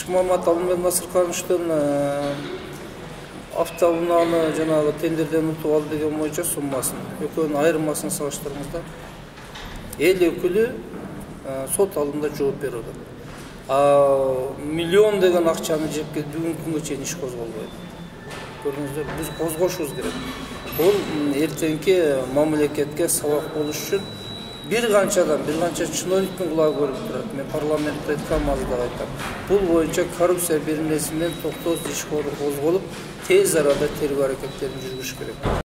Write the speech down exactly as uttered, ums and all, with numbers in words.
Ишмамат Алмаз Насыркановичтен автоунааны жанагы тендерден утуп алды деген боюнча суммасын, экөөнүн айырмасын салыштырганда эл өкүлү сот алдында жооп берип атат. А миллион деген акчаны жеп келип бүгүнкү күнгө чейин иш козголбойт. Көрдүңүздөр, биз козгошубуз керек. Бул эртеңки мамлекетке сабак болуш үчүн бир канчадан, бир канча чиновниктин кулагы көрүп турат. Мен парламентте айткан маалда айтам. Бул боюнча коррупция беренесинен токтоосуз иш козголуп, тез арада тергөө аракеттерин жүргүзүш керек.